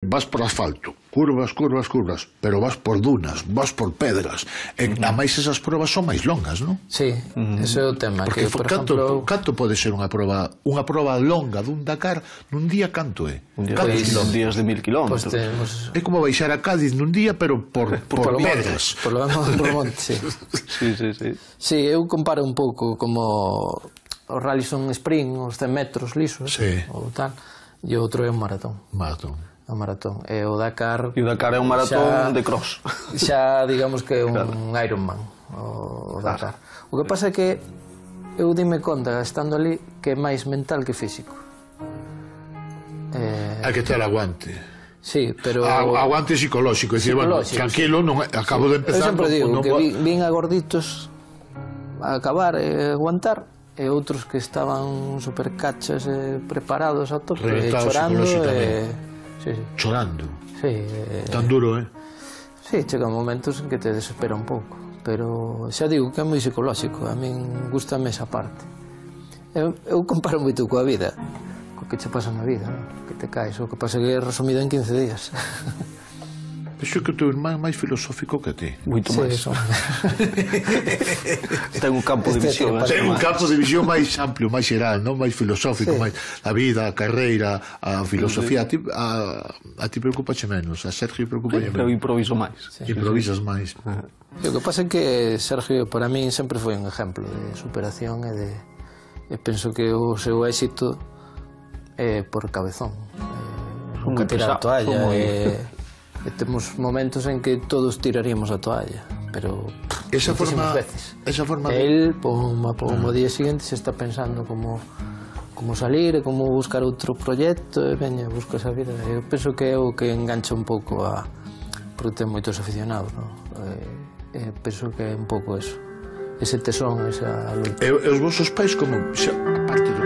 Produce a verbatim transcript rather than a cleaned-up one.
Vas por asfalto, curvas, curvas, curvas, pero vas por dunas, vas por pedras. E, a máis esas probas son máis longas, non? Sí, ese é o tema. Porque, que, por canto, exemplo... canto pode ser unha proba unha proba longa dun Dakar nun día canto é? Un día de días de mil kilómetros. Pues tenemos... É como baixar a Cádiz nun día, pero por, por, por pedras. Por lo menos por monte, sí. Sí, sí, sí. Sí, eu comparo un pouco como os rallies son sprint, os cen metros lisos, sí. ou tal, e o outro é un maratón. Maratón. O maratón. E o Dakar... E o Dakar é un maratón xa, de cross. Xa, digamos que é un claro. Ironman, o, o Dakar. Claro. O que pasa é que eu dime conta, estando ali, que é máis mental que físico. Eh... Hai que ter aguante. Sí, pero... A, aguante psicolóxico, é dicir, bueno, tranquilo, non, acabo de empezar... Eu sempre digo non, que vi, vin a gorditos a acabar e aguantar, e outros que estaban super cachas e preparados a tope, e chorando e... Sí, sí. Chorando. Sí, eh... Tan duro, eh? Sí, chegan momentos en que te desespera un pouco, pero xa digo que é moi psicolóxico, a min gustame esa parte. Eu, eu comparo moito coa vida, co que che pasa na vida, ¿no? Que te caes, o que pasa que é resumido en quince días. Penso que o teu irmán é máis filosófico que ti. Moito máis. Sí, ten un campo de visión. Ten un campo de visión máis amplio, máis xeral, non máis filosófico, máis a vida, a carreira, a filosofía. A ti, a, a ti preocupache menos, a Sergio preocupache menos. Eu improviso máis. Improvisas máis. O que pasa é que Sergio para min sempre foi un exemplo de superación e de... E penso que o seu éxito é por cabezón. Nunca tirar a toalla e... E temos momentos en que todos tiraríamos a toalla, pero esa forma, veces. Esa forma de... El, poma, poma, o día seguinte se está pensando como como salir e como buscar outro proxecto e veña, busca esa vida. Eu penso que é o que engancha un pouco a... porque ten moitos aficionados, non? E, e penso que é un pouco eso, ese tesón, esa luta. E, e os vosos pais como, xa, aparte do